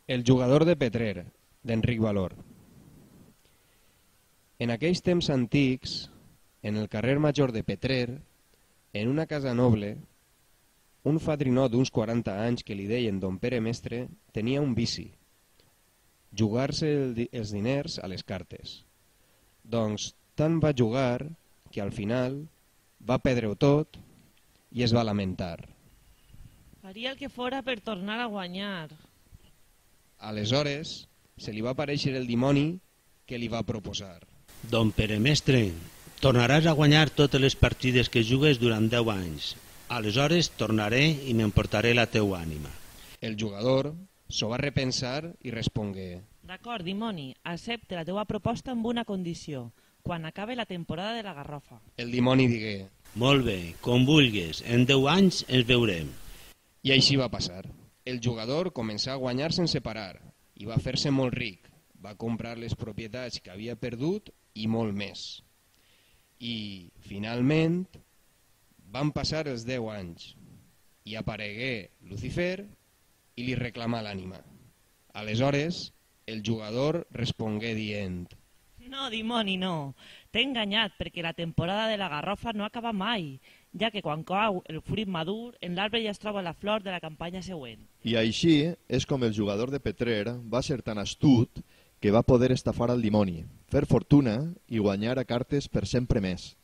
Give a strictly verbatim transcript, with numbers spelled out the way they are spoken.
El jugador de Petrer, d'Enric Valor. En aquells temps antics, en el carrer Major de Petrer, en una casa noble, un fadrinó d'uns quaranta anys que li deien don Pere Mestre tenia un vici, jugar-se el di els diners a les cartes. Doncs tant va jugar que al final va perdre-ho tot i es va lamentar. Faria el que fora per tornar a guanyar. Aleshores se li va aparèixer el dimoni que li va proposar. Don Pere Mestre, tornaràs a guanyar totes les partides que jugues durant deu anys. Aleshores tornaré i m'emportaré la teua ànima. El jugador s'ho va repensar i respongué: D'acord, dimoni, accepte la teua proposta amb una condició, quan acabe la temporada de la garrofa. El dimoni digué: Molt bé, com vulguis, en deu anys ens veurem. I així va passar. El jugador començà a guanyar sense parar i va fer-se molt ric. Va comprar les propietats que havia perdut i molt més. I, finalment, van passar els deu anys i aparegué Lucifer i li reclamà l'ànima. Aleshores, el jugador respongué dient: No, dimoni, no. T'he enganyat perquè la temporada de la garrofa no acaba mai, ja que quan cau el fruit madur, en l'arbre ja es troba la flor de la campanya següent. I així és com el jugador de Petrer va ser tan astut que va poder estafar al dimoni, fer fortuna i guanyar a cartes per sempre més.